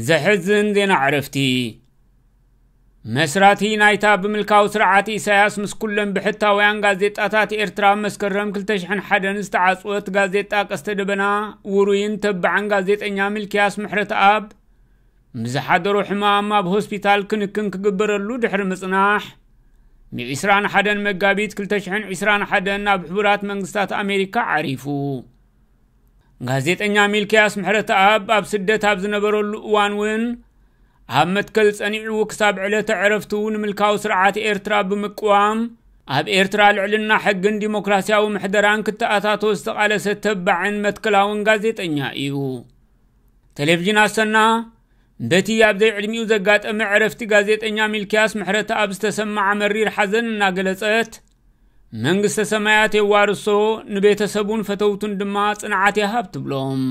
ዘሕዝን ዜና ዕረፍቲ። መስራቲ ናይታ ብምልካዊ ስርዓት ኢሳያስ ምስ ኩለን ብሕታውያን ጋዜጣታት ኤርትራ ኣብ መስከረም ክልተ ሽሕን ሓደን ዝተዓጽወት ጋዜጣ ቀስተ ደበና፣ ውሩይን ተባዕን ጋዜጠኛ ሚልክያስ ምሕረተኣብ፣ ብዝሓደሮ ሕማም ኣብ ሆስፒታል ክንክን ክግበረሉ ድሕሪ ምጽናሕ፣ ብ ዕስራን ሓደን መጋቢት ክልተ ሽሕን ዕስራን ሓደን ናብ ሕቡራት መንግስታት ኣሜሪካ ዓሪፉ። ጋዜጠኛ ሚልክያስ ምሕረተኣብ ኣብ ስደት ኣብ ዝነበረሉ እዋን እውን፣ ኣብ መትከል ጸኒዑ ክሳብ ዕለተ ዕረፍቱ ንምልካዊ ስርዓት ኤርትራ ብምቅዋም፣ ኣብ ኤርትራ ልዕልና ሕግን ዲሞክራሲያዊ ምሕደራን ክተኣታቶ ዝተቓለሰ ተባዕን መትከላውን ጋዜጠኛ እዩ። ቴሌቪዥን ኣሰና፣ በቲ ኣብ ዘይዕድሚኡ ዘጋጠመ ዕረፍቲ ጋዜጠኛ ሚልክያስ ምሕረተኣብ ዝተሰማዓ መሪር ሓዘን እናገለጸት፣ መንግስተ ሰማያት የዋርሶ፣ ንቤተሰቡን ፈተውቱን ድማ ጽንዓት ይሃብ ትብሎም።